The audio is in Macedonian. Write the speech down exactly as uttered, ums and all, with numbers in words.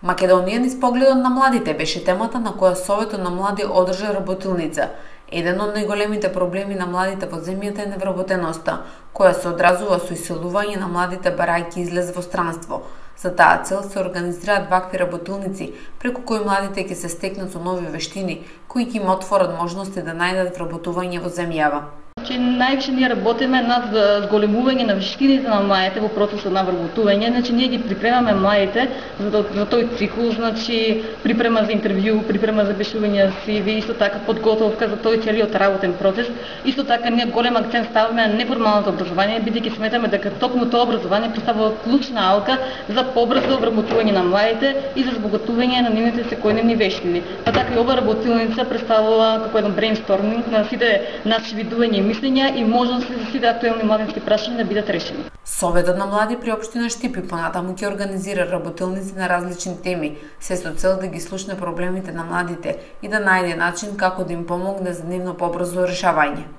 Македонија низ погледот на младите беше темата на која Советот на млади одржа работилница. Еден од најголемите проблеми на младите во земјата е невработеноста, која се одразува со иселување на младите барајќи излез во странство. За таа цел се организираат вакви работилници, преку кои младите ќе се стекнат со нови вештини, кои ќе им отворат можности да најдат вработување во земјава. Че највише ние работиме над зголемување на вештините на младите во процесот на вработување. Значи ние ги припремаме младите за, за тој цикл, значи припрема за интервју, припрема за пишување си ви, исто така подготовка за тој целиот работен процес. Исто така ние голем акцент ставаме на неформалното образование, бидејќи сметаме дека токму тоа образование представува клучна алка за побрзо вработување на младите и за збогатување на нивните секојдневни вештини. Па така и ова работилница представува како еден брейнсторминг на сите наши видувања мислења и можности за сите актуелни младински прашања да бидат решени. Советот на млади при општина Штипи понатаму ќе организира работилници на различни теми, се со цел да ги слушне проблемите на младите и да најде начин како да им помогне за нивно побрзо решавање.